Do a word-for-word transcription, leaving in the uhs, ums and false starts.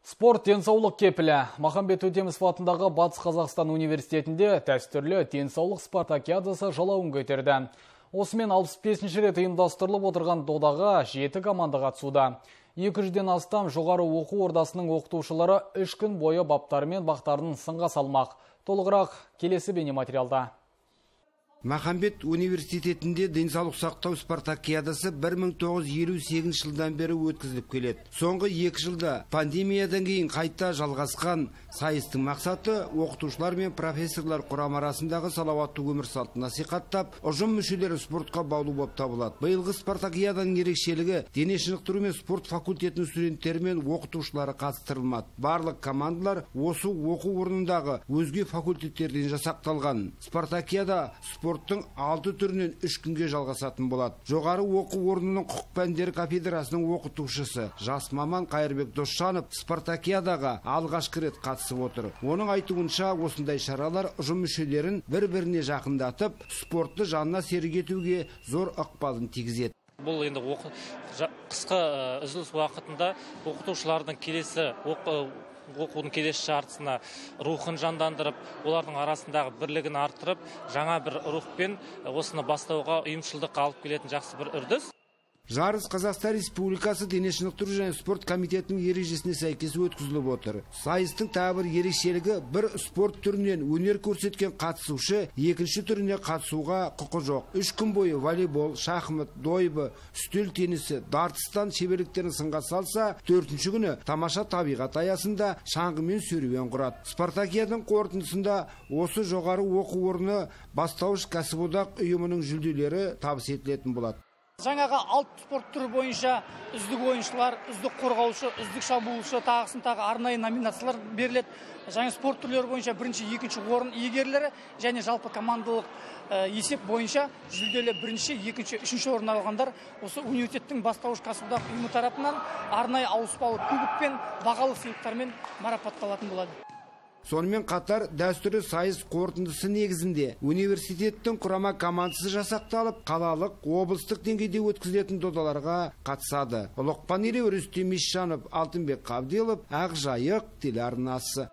Спорт денсаулық кепілі. Махамбет Өтемісов атындағы Батыс Қазақстан университетінде дәстүрлі денсаулық спартакиадасы жалауын көтерді. Осымен алпыс бесінші рет ұйымдастырылып отырған додаға жеті команда қатысуда. екі жүзден астам жоғары оқу ордасының оқытушылары үш күн бойы баптары мен бақтарын сынға салмақ. Толығырақ келесі бейнематериалда. Махамбет университетінде денсаулық сақтау спартакиадасы бір мың тоғыз жүз елу сегізінші жылдан бері өткізіліп келеді. Соңғы екі жылда пандемиядан кейін қайта жалғасқан сайыстың мақсаты оқытушылар мен профессорлар құрам арасындағы салауатты өмір салтын насихаттап, ұжым мүшелері спортқа баулу болып табылады. Биылғы спартакиаданың ерекшелігі дене шынықтыру мен спорт факультетінің студенттері мен оқытушылары қатыстырылмады. Барлық командалар осы оқу орнындағы өзге факультеттерден жасақталған. Спартакиада спорттың алты түрінен үш күнге жалғасатын болады. Жоғары оқу орнының құқық пәндері кафедрасының оқытушысы жас маман Қайырбек Досжанов спартакиадаға алғашқы рет қатысып отыр. Оның айтуынша, осындай шаралар ұжым мүшелерін бір-біріне жақындатып, спортты жанына серік етуге зор ықпалын тигізеді. Бұл енді қысқы үзіліс уақытында оқытушылардың келесі оқудың келесі жартысына рухын жандандырып, олардың арасындағы бірлігін арттырып, жаңа бір рухпен осыны бастауға ұйымшылдық алып келетін жақсы бір үрдіс. Жарыс Қазақстан Республикасы дене шынықтыру және спорт комитетінің ережесіне сәйкес өткізіліп отыр. Сайыстың тағы бір ерекшелігі, бір спорт түрінен өнер көрсеткен қатысушы екінші түріне қатысуға құқы жоқ. Үш күн бойы волейбол, шахмат, дойбы, үстел теннисі, дартыстан шеберліктерін сынға салса, төртінші күні тамаша табиғат аясында шаңғымен серуен құрады. Спартакиаданың қорытындысында осы жоғары оқу орны бастауыш кәсіподақ ұйымының жүлделері табыс етілетін болады. Жаңаға алты спорт түрі бойынша үздік ойыншылар, үздік қорғаушы, үздік шабуылшы, тағысын тағы арнайы номинациялар беріледі. Жаңа спорт түрлері бойынша бірінші, екінші орын иегерлері және жалпы командалық есеп бойынша жүлделі бірінші, екінші, үшінші орын алғандар осы университеттің бастауыш кәсіподақ ұйымы тарапынан арнайы ауыспалы кубок пен бағалы сыйлықтармен марапатталатын болады. Сонымен қатар дәстүрлі сайыс қорытындысы негізінде университеттің құрама командасы жасақталып, қалалық, облыстық деңгейде өткізілетін додаларға қатысады. Лоқпан Елеу, Рүстем Исжанов, Алтынбек Қабделов, Ақжайық телеарнасы.